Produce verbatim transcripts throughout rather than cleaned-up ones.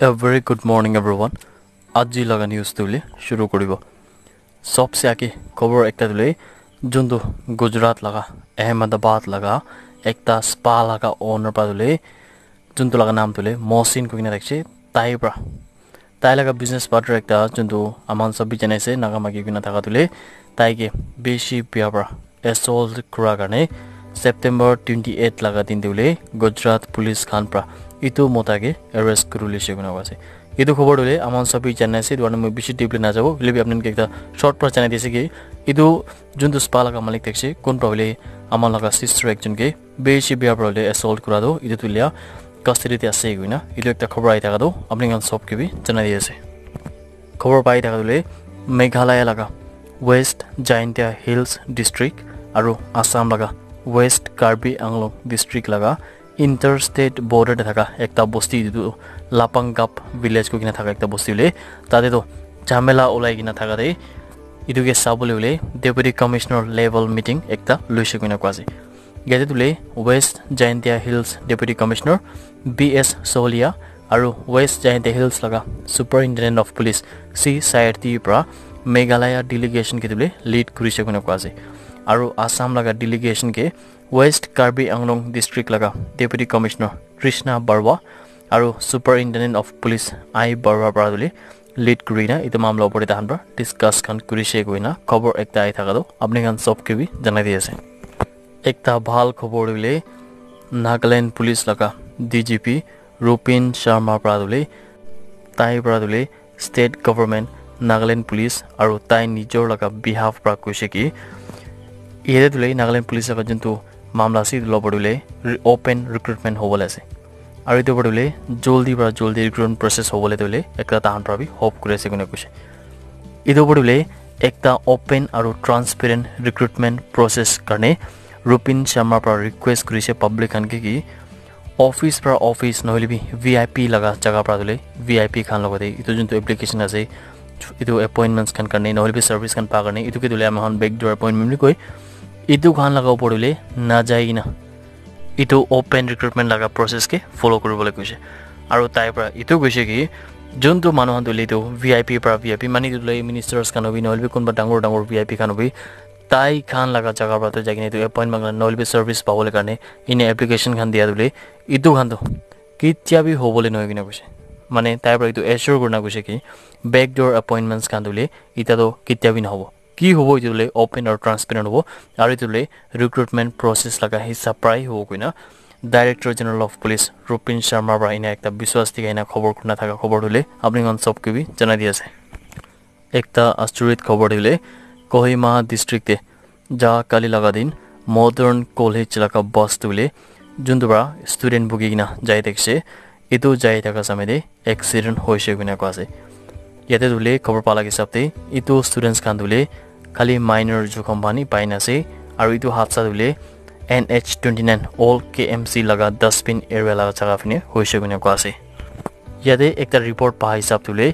A very good morning, everyone. Aji laga news tu le shuru kuribo. Sobse age khobor ekta tu le, juntu Gujarat laga, Ahmedabad laga, ekta spa laga owner pa tu le, juntu laga naam tu le Mohsin koikena thakise, tai pra, tai laga business partner ekta, juntu aman sob bi janai ase, Naga maki koikena thaka tu le, tai ke bishi bia pra assault kura karne September twenty eight laga din tu le Gujarat police khan pra itu mota ke arrest kuri lise koina koa ase. Itu khobor tu le aman sob bi janai ase, itu karne moi bishi deeply na jabo, hoile bi apni khan ke ekta short pra janai dise ki itu juntu spa laga malik thakise, kun pra hoile aman laga sister ekjon ke bishi bia pra hoile assault kura tu, itu tu lia custody te ase koina, itu ekta khobor ahi thaka tu apni khan sob ke bi janai di ase. Khobor pai thaka tu le Meghalaya laga West Jaintia Hills District aru Assam laga West Karbi Anglong District laga interstate border te thaka ekta bosti, itu tu Lapangap village koikena thaka ekta bosti hoile, tate tu jhamela ulai kena thaka te itu ke sabole hoile Deputy Commissioner level meeting ekta loise koina koa ase. Yate tu le West Jaintia Hills Deputy Commissioner B S Solia aru West Jaintia Hills laga Superintendent of Police C Sayarthi pra Meghalaya delegation ke tu le lead kurise koina koa ase. Aru Assam laga delegation ke West Karbi Anglong District laga Deputy Commissioner Trishna Barua aru Superintendent of Police I Barua pra tu le lead kurina itu mamla opor te tahan pra discuss khan kurise koina khobor ekta ahi thaka tu apni khan sob ke bi janai di ase. Ekta bhal khobor tu le Nagaland Police laga D G P Rupin Sharma pra tu le, tai pra tu le state government, Nagaland Police aru tai nijor laga behalf pra koise ki yate tu le Nagaland Police laga juntu mamla ase, itu logot tu le re- open recruitment hobole ase. Aru itu opor tu le joldi pra joldi recruitment process hobole tu le ekta tahan pra bi hope kuri ase koina koise. Itu opor tu le ekta open aru transparent recruitment process karne Rupin Sharma pra request kurise public khan ke ki office pra office nohoile bi V I P laga jaga pra tu le V I P khan logot te itu juntu application ase, itu appointments khan karne nohoile bi service khan pa karne itu ke tu le ami khan backdoor appointment bi koi, itu khan laga opor tu le na jai kena itu open recruitment laga process ke follow kuribole koise. Aru tai pra itu koise ki juntu manu khan tu le itu V I P pra V I P mani tu le ministers khan hobi nohoile bi kunba dangor dangor V I P khan hobi, tai khan laga jaga pra tu jai kena itu appointment khan nohoile bi service pabole karne ine application khan dia tu le itu khan tu ketia bi hobole nohoi kena koise. Mane tai pra itu assure kurina koise ki backdoor appointments khan tu le ita tu ketia bi nohobo. Ki hobo itu le open aru transparent hobo aru itu le recruitment process laga hisab pra hi hobo koina Director General of Police Rupin Sharma pra ina ekta biswas dikhai na khobor kurina thaka khobor tu le apni khan sob ke bi janai di ase. Ekta asturit khobor tu le Kohima district te ja kali laga din modern college laga bus tu le juntu pra student bugi kena jai thakise, itu jai thaka samay te accident hoise koina koa ase. Yate tu le khobor pa laga hisab te itu students khan tu le khali minor jukham pani pai na ase aru itu hadsa tu le N H twenty nine old K M C laga dustbin area laga jaga phine hoise koina koa ase. Yate ekta report pa hisab tu le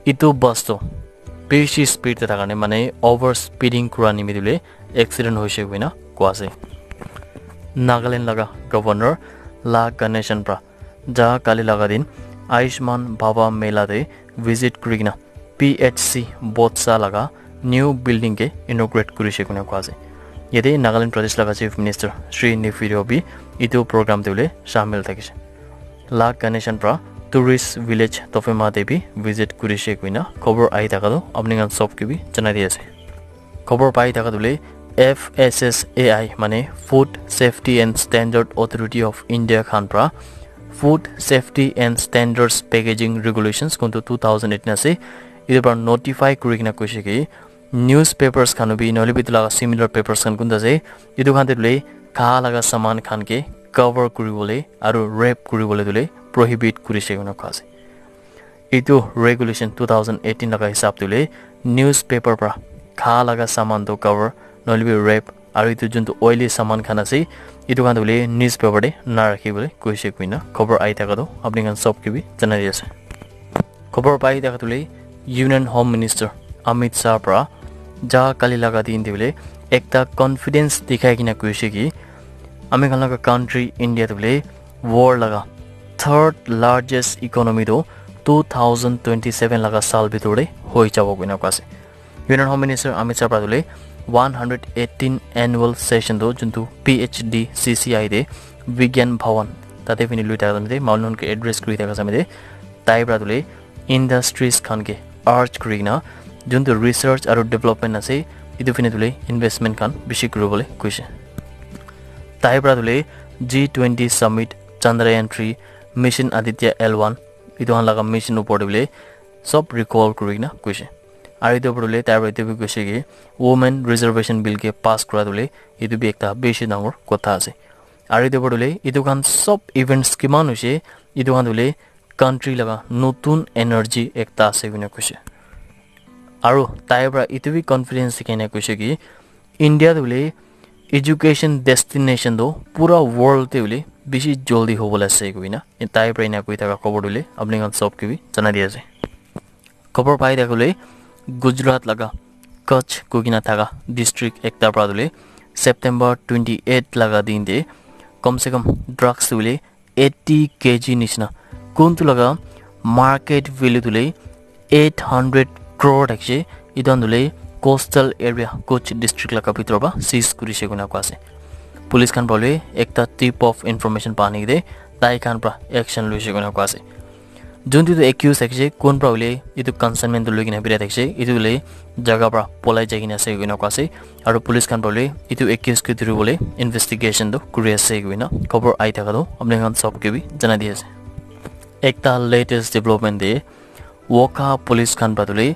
itu bus tu bishi speed te thaka karne mane over speeding kura nimite tu le accident hoise koina koa ase. Nagaland laga governor La Ganesan pra ja kali laga din Ayushman Bhava Mela te visit kuri kena P H C Botsa laga new building ke inaugurate kurise koina koa ase. Yate Nagaland Pradesh laga Chief Minister Shri Neiphiu Rio bi itu program te hoile shamil thakise. La Ganesan pra tourist village Tofema te bi visit kurise koina khobor ahi thaka tu apni khan sob ke bi janai di ase. Khobor pai thaka tu le F S S A I mane Food Safety and Standard Authority of India khan pra Food Safety and Standards Packaging Regulations kuntu two thousand eighteen ase, itu pra notify kuri kena koise ki newspapers khan bi nohoile bi itu laga similar papers khan kunta ase, itu khan te tu le kha laga saman khan ke cover kuribole aru wrap kuribole tu le prohibit kurise koina koa ase. Itu regulation two thousand eighteen laga hisab tu le newspaper pra kha laga saman tu cover nohoile bi wrap aru itu juntu oily saman khan ase itu khan tu le newspaper te na rakhi bole koise koina khobor ahi thaka tu apni khan sob ke bi janai di ase. Khobor pai thaka tu le Union Home Minister Amit Shah pra ja kali laga din te bole ekta confidence dikhai kena koise ki ami khan laga country India tu bole world laga third largest economy tu two thousand twenty-seven laga saal bhitor te hoi jabo koina koa ase. Union Home Minister Amit Shah para tu le one hundred eighteen annual session tu juntu P H D C C I te Vigyan Bhawan tate bini lui thaka samite manu ke address kuri thaka samite tai para tu le industries khan ke urge kuri kena juntu research aru development ase itu bini tu le investment khan bishi kuri bole koise. Tai para tu le G twenty summit, Chandrayaan three, Mission Aditya L one itu khan laga mission upor te bole sob recall kuri kena koise. Aru itu upor te tai para itu bi koise ki women reservation bill ke pass kura tu le itu bi ekta bishi dangor kotha ase. Aru itu upor te itu khan sob events kiman hoise itu khan tu le country laga notun energy ekta ase koina koise. Aru tai para itu bi confidence dikhai na koise ki India tu le education destination tu pura world te bole bishi joldi hobole ase koina tai para ena koi thaka khobor tu le apni khan sob ke bi janai di ase. Khobor pai thaka le Gujarat laga Kutch koi kena thaka district ekta para tu le September twenty eight laga din te kom se kom drugs tu le eighty K G nishina kuntu laga market value tu le eight hundred crore thakise. Itu khan tu le coastal area Kutch district laga bhitor para seize kurise koina koa ase. Police khan para le ekta tip of information pa ani kene tai khan para action luise koina koa ase. Juntu tu accused thakise kun para hoile itu consignment tu lui kena birai thakise itu le jaga para polai jai kena ase koina koa ase. Aru police khan para hoile itu accused ke dhuri bole investigation tu kuri ase koina khobor ai thaka tu apni khan sob ke bi janai di ase. Ekta latest development te Wokha police khan para tu le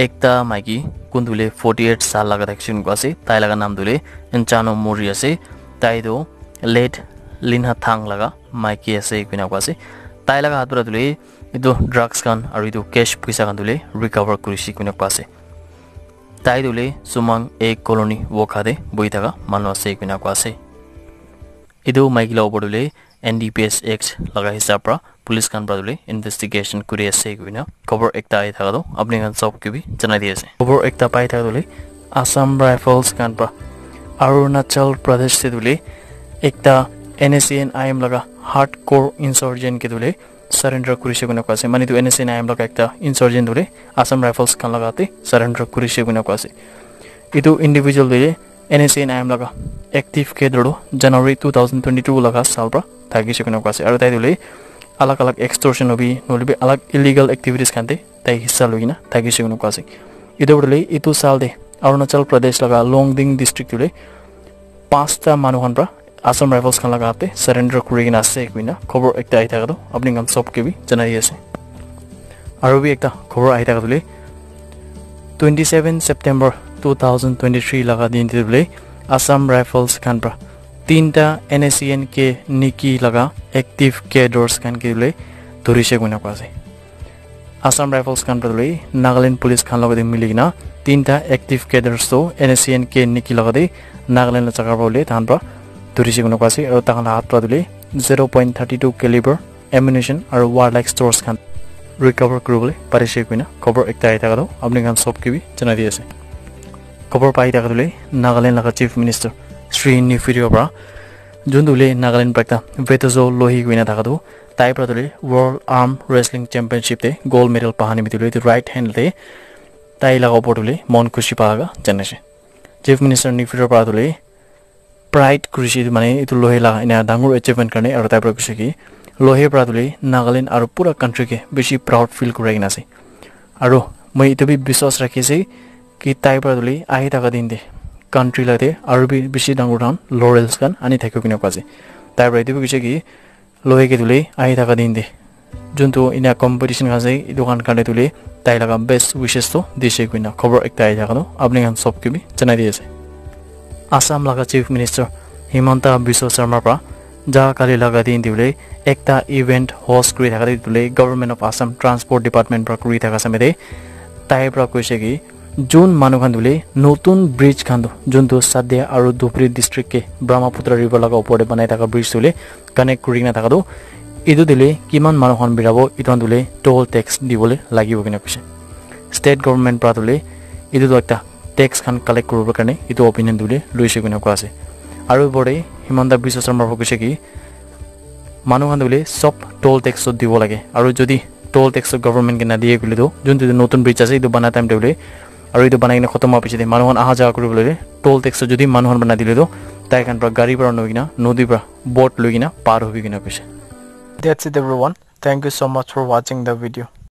ekta maiki kun tu le forty eight saal laga thakise koina koa ase. Tai laga naam tu le Nchano Mori ase. Tai tu late Linha Thang laga maiki ase koina koa ase. Tai laga hath para tu le itu drugs khan aru itu cash puisa khan tu le recover kurise koina koa ase. Tai tu le Sumang A Colony Wokha te bohi thaka manu ase koina koa ase. Itu maiki la upor tu le N D P S Act laga hisab para police khan para tu le investigation kuri ase koina khobor ekta ai thaka tu apni khan sob ke bi janai di ase. Khobor ekta pai thaka tu le Assam Rifles khan para Arunachal Pradesh te tu le ekta N S C N I M laga hardcore insurgent ke tu le surrender kurise koina koa ase. Mane itu N S C N I M laga ekta insurgent tu le Assam Rifles khan laga te surrender kurise koina koa ase. Itu individual tu le N S C N I M laga active cadre tu January two thousand twenty two laga saal para thakise koina koa ase. Aru tai tu le alag alag extortion hobi nohole bi alag illegal activities khan te tai hissa loi kena thakise koina koa ase. Itu para le itu saal te Arunachal Pradesh laga Longding district tu le pasta manu khan para Assam Rifles khan laga hath te surrender kuri kena ase koina khobor ekta ai thaka tu apni khan sob ke bi janai di ase. Aru bi ekta khobor ai thaka tu le twenty seven September two thousand twenty three laga din te tu le Assam Rifles khan para tinta N S C N K Niki laga active cadres khan ke tu le dhurise koina koa ase. Assam Rifles khan para tu le Nagaland Police khan logote mili kena tinta active cadres tu N S C N K Niki logote Nagaland la jaga para hoile tahan para dhurise koina koa ase aru tahan la hath para tu le zero point thirty two caliber ammunition aru warlike stores khan recover kuri bole parise koina khobor ekta ai thaka tu apni khan sob ke bi janai di ase. Khobor pai thaka tu le Nagaland laga Chief Minister Sri Neiphiu Rio para jun tu le Nagaland para ekta Vetezo Lohi koina thaka tu tai para tu le World Arm Wrestling Championship te gold medal paha nimite tu le etu right hand te tai laga upor tu le mon khushi pa laga janai ase. Chief Minister Neiphiu Rio para tu le pride kurise etu mane etu Lohi laga ena dangor achievement karne aru tai para koise ki Lohi para tu le Nagaland aru pura country ke bishi proud feel kurai kena ase. Aru moi etu bi biswas rakhi ase ki tai para tu le ahi thaka din te country la te aru bi bishi dangor dangor laurels khan ani thakio koina koa ase. Tai para etu bi koise ki Lohi ke tu le ahi thaka din te juntu ena competition khan ase etu khan karne tu le tai laga best wishes tu dise koina khobor ekta ai thaka tu apni khan sob ke bi janai di ase. Assam laga Chief Minister Himanta Biswa Sarma para ja kali laga din tu le ekta event host kuri thaka tu le Government of Assam Transport Department para kuri thaka samete tai para koise ki jun manu khan tu le notun bridge khan tu juntu Sadia aru Dhubri district ke Brahmaputra river laga upor te banai thaka bridge tu le connect kuri kena thaka tu etu tu le kiman manu khan birabo etu khan tu le toll tax dibole lagibo kena koise. State government para tu le etu tu ekta tax khan collect kuribo karne etu opinion tu le loise koina koa ase. Aru upor te Himanta Biswa Sarma para koise ki manu khan tu le sob toll tax tu dibo lage aru jodi toll tax to government ke na diye koile tu, juntu tu notun bridge ase, etu bana time te bole, aru etu banai kena khotom howa piche te manu khan aha jawa kuri bole toll tax to jodi manu khan bana dile tu, tai khan pra gari pra noi kena, nodi pra boat loi kena par hobi kena koise. That's it, everyone. Thank you so much for watching the video.